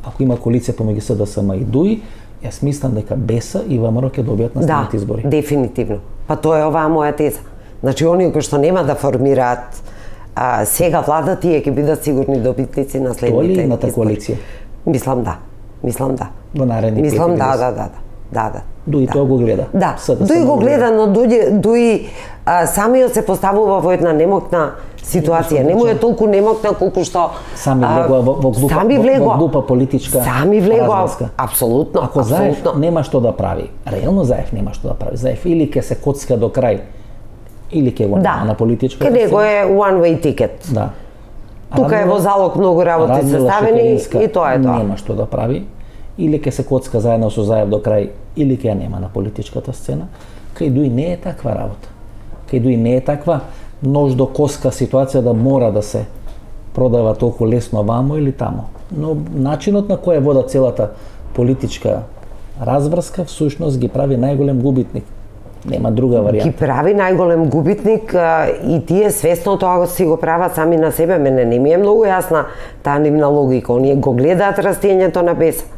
ако има коалиција помеѓу СДСМ и ДУИ, јас мислам дека БЕСА и ВМРО ќе добијат наследните избори. Да, дефинитивно. Па тоа е оваа моја теза. Значи, оние кои што нема да формираат сега влада, тие ќе бидат сигурни добитници на следните избори. Тоа ли едната коалиција? Мислам да. Во наредни 5 Мислам години. да. Дуи тоа го гледа. Да, Дуи го гледа, но Дуи самиот се поставува во една немокна ситуација. Не му е толку немокна колку што сами влегува во глупа политичка разврска. Апсолутно. Ако Заев нема што да прави, реално Заев нема што да прави. Заев или ќе се коцка до крај, или ќе го нема на политичка. Ке него е one way ticket. Да. Тука е во залог многу работи составени и тоа е тоа. Нема што да прави. Или ќе се коцка заедно со Заев до крај, или ќе ја нема на политичката сцена. Кај Дуи не е таква работа. Кај Дуи не е таква нож до коска ситуација да мора да се продава толку лесно вамо или тамо. Но начинот на кој вода целата политичка разврска всушност ги прави најголем губитник. Нема друга варијанта. Ги прави најголем губитник и тие свесно тоа си го прават сами на себе. Мене не ми е многу јасна таа нивна логика. Оние го гледаат растењето на БЕСА.